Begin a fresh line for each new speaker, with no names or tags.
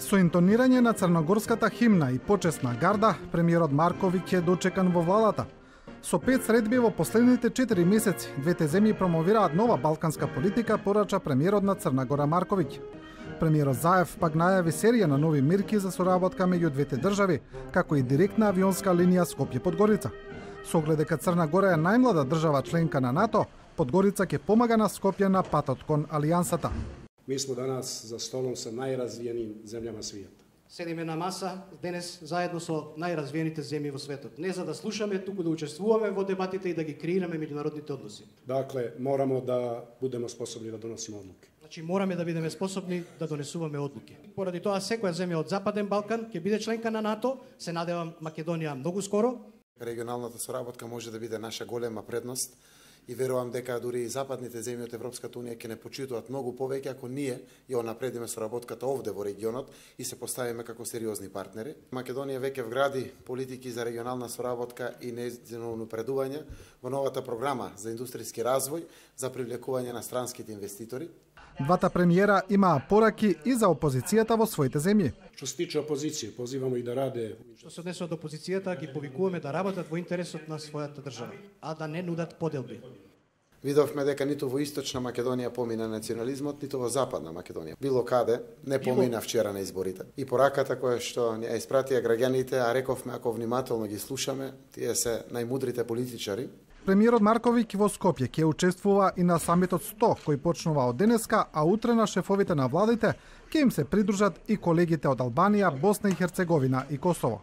Со интонирање на црногорската химна и почесна гарда, премиерот Марковиќ е дочекан во владата. Со 5 средби во последните 4 месеци, двете земји промовираат нова балканска политика, порача премиерот на Црна Гора Марковиќ. Премиерот Заев пак најави серија на нови мерки за соработка меѓу двете држави, како и директна авионска линија Скопје-Подгорица. Со оглед дека Црна Гора е најмлада држава членка на НАТО, Подгорица ќе помага на Скопје на патот кон алијансата.
Mi smo danas za stolom sa najrazvijenijim zemljama svijeta.
Седиме на маса денес заедно со најразвиените земји во светот. Не за да слушаме, туку да учествуваме во дебатите и да ги креираме меѓународните односи.
Dakle, moramo da budemo sposobni da donosimo odluke.
Значи мораме да бидеме способни да донесуваме одлуки. Поради тоа секоја земја од Западен Балкан ќе биде членка на НАТО, се надевам Македонија многу скоро.
Регионалната соработка може да биде наша голема предност и верувам дека дури и западните земји од Европската унија ќе не почитуваат многу повеќе ако ние ја напредиме соработката овде во регионот и се поставиме како сериозни партнери. Македонија веќе вгради политики за регионална соработка и нејзино напредување во новата програма за индустријски развој за привлекување на странските инвеститори.
Двата премиера имаа пораки и за опозицијата во своите земји.
Што се тиче опозиcije, pozivamo i da rade.
Што се однесува до опозицијата, ги повикуваме да работат во интересот на својата држава, а да не нудат поделби.
Видовме дека ниту во Источна Македонија помина национализмот, ниту во Западна Македонија. Било каде не помина вчера на изборите. И пораката која што ја испратија граѓаните, а рековме ако внимателно ги слушаме, тие се најмудрите политичари.
Премиерот Марковиќ во Скопје ќе учествува и на самитот 100 кој почнува од денеска, а утре на шефовите на владите ќе им се придружат и колегите од Албанија, Босна и Херцеговина и Косово.